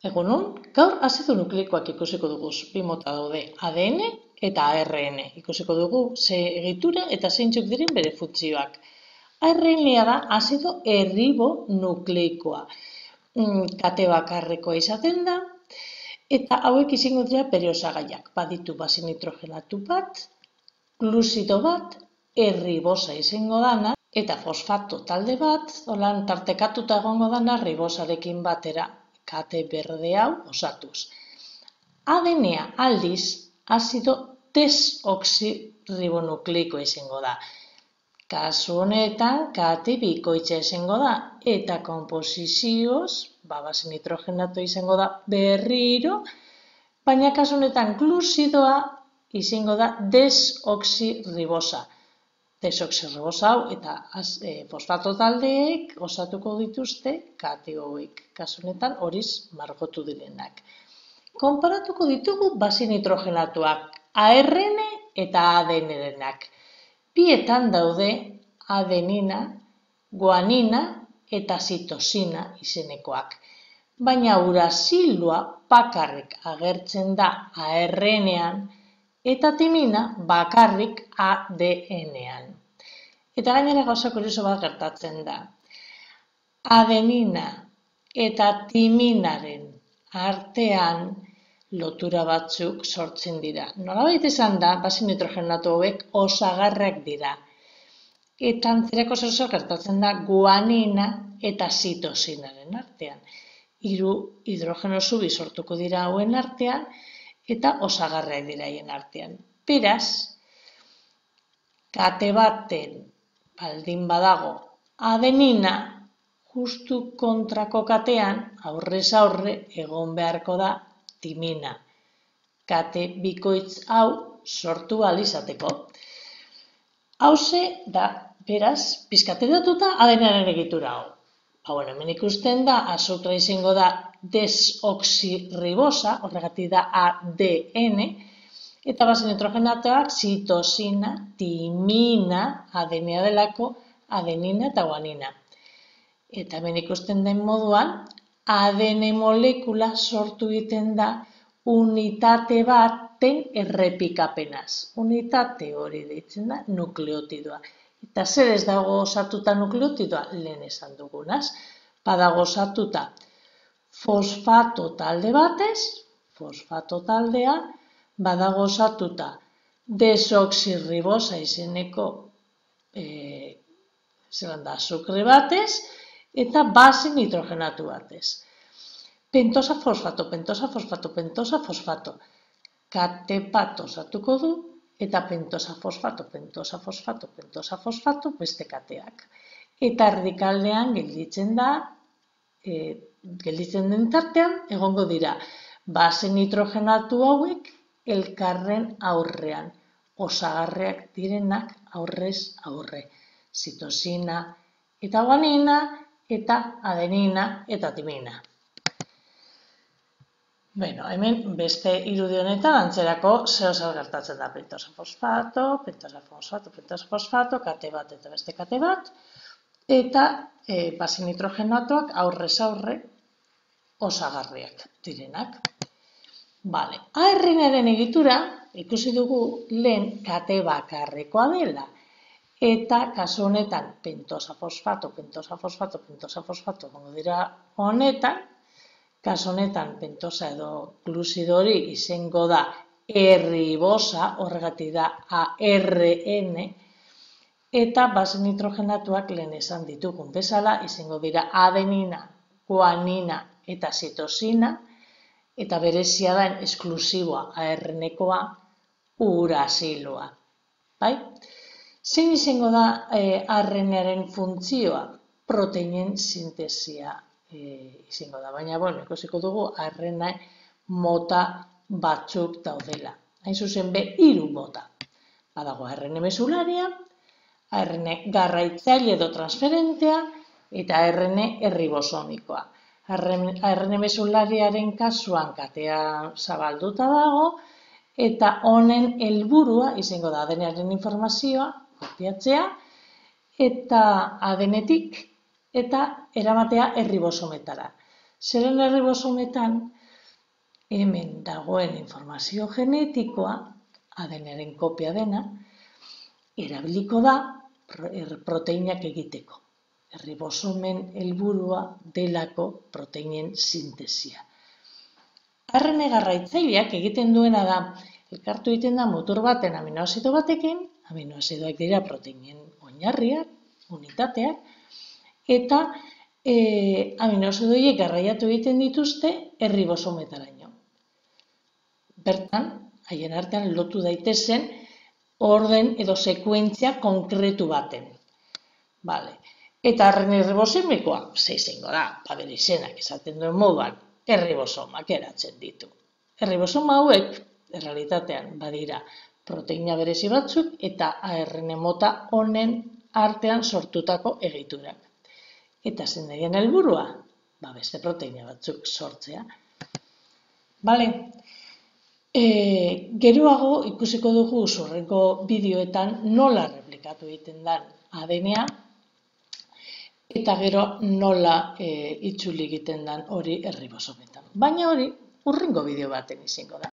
Egunon, gaur azido nukleikoak ikusiko dugu. Bi mota daude, ADN eta ARN. Ikusiko dugu ze egitura eta zeintzuk diren bere funtzioak. ARN-a da azido erribonukleikoa. Kate bakarrekoa izaten da, eta hauek izango dira bere osagaiak. Baditu base nitrogenatu bat, gluzido bat, erribosa izango dana, eta fosfato talde bat, holan tartekatuta egongo dana ribosarekin batera, kate berde hau osatuz. ADN-a aldiz, azido desoxirribonukleikoa izango da. Kasu honetan, kate bikoitza izango da, eta konposizioz, base nitrogenatua izango da berriro, baina kasu honetan gluzidoa izango da desoxirribosa. Desoxirribosa hau eta fosfato taldeek osatuko dituzte kate hauek, kasu honetan horiz margotu direnak. Konparatuko ditugu base nitrogenatuak, ARN eta ADN-renak. Bietan daude adenina, guanina eta zitosina izenekoak. Baina urasiloa bakarrik agertzen da ARN-ean eta timina bakarrik ADN-ean. Eta gainera gauza kurioso bat gertatzen da. Adenina eta timinaren artean lotura batzuk sortzen dira. Nolabait esan da, base nitrogenatu hauek osagarriak dira. Eta antzerako zer gertatzen da guanina eta zitosinaren artean. 3 hidrogeno zubi sortuko dira hauen artean eta osagarriak dira haien artean. Beraz, kate baten baldin badago adenina, justu kontrako katean, aurrez aurre egon beharko da timina. Kate bikoitz hau sortu ahal izateko. Hauxe da, beraz, pizkateratuta ADN-aren egitura hau. Hemen ikusten da, azukra izango da desoxirribosa, horregatik da ADN, eta base nitrogenatuak zitosina, timina, ADN-a delako, adenina eta guanina. Eta hemen ikusten den moduan, ADN molekula sortu egiten da unitate baten errepikapenaz. Unitate hori deitzen da nukleotidoa. Eta zer ez dago osatuta nukleotidoa? Lehen esan dugunaz. Badago osatuta fosfato talde batez, fosfato taldea, badago osatuta desoxirribosa izeneko azukre batez, eta base nitrogenatu batez. Pentosa fosfato, pentosa fosfato, pentosa fosfato. Kate bat osatuko du, eta pentosa fosfato, pentosa fosfato, pentosa fosfato beste kateak. Eta erdikaldean gelditzen den tartean, egongo dira base nitrogenatu hauek elkarren aurrean. Osagarriak direnak aurrez aurre. Zitosina eta guanina eta adenina eta timina. Hemen beste irudi honetan antzerako zer gertatzen da pentosa fosfato, pentosa fosfato, pentosa fosfato, kate bat eta beste kate bat, eta base nitrogenatuak aurrez aurre osagarriak direnak. ARN-aren egitura ikusi dugu lehen kate bakarrekoa dela. Eta kasu honetan pentosa fosfato, pentosa fosfato, pentosa fosfato gongo dira honetan, kasu honetan pentosa edo gluzido hori izango da erribosa, horregatik da ARN, eta base nitrogenatuak lehen esan ditugun bezala, izango dira adenina, guanina eta zitosina, eta berezia da esklusiboa ARN-ekoa urasiloa. Zein izango da ARN-aren funtzioa? Proteinen sintesia izango da, baina ikusiko dugu ARN mota batzuk daudela. Hain zuzen 3 mota. Badago ARN mesularia, ARN garraitzaile edo transferentea, eta ARN erribosomikoa. ARN mesulariaren kasuan katea zabalduta dago, eta honen helburua izango da ADN-aren informazioa kopiatzea, eta ADN-etik eta eramatea erribosometara. Zeren erribosometan, hemen dagoen informazio genetikoa, ADN-aren kopia dena, erabiliko da proteinak egiteko. Erribosomen helburua delako proteinen sintesia. ARN garraitzaileak egiten duena da, elkartu egiten da mutur baten aminoazido batekin, aminoazidoak dira proteinen oinarriak, unitateak, eta aminoazido horiek garraiatu egiten dituzte erribosometaraino. Bertan, haien artean lotu daitezen orden edo sekuentzia konkretu baten. Eta ARN erribosomekoa, izango da, bere izenak esaten duen moduan, erribosomak eratzen ditu. Erribosoma hauek, errealitatean, badira proteina berezi batzuk eta ARN mota honen artean sortutako egiturak. Eta zein daien helburua? Beste proteina batzuk sortzea. Geroago ikusiko dugu hurrengo bideoetan nola replikatu egiten den ADN-a eta gero nola itzuli egiten den hori erribosometan. Baina hori hurrengo bideo baten izango da.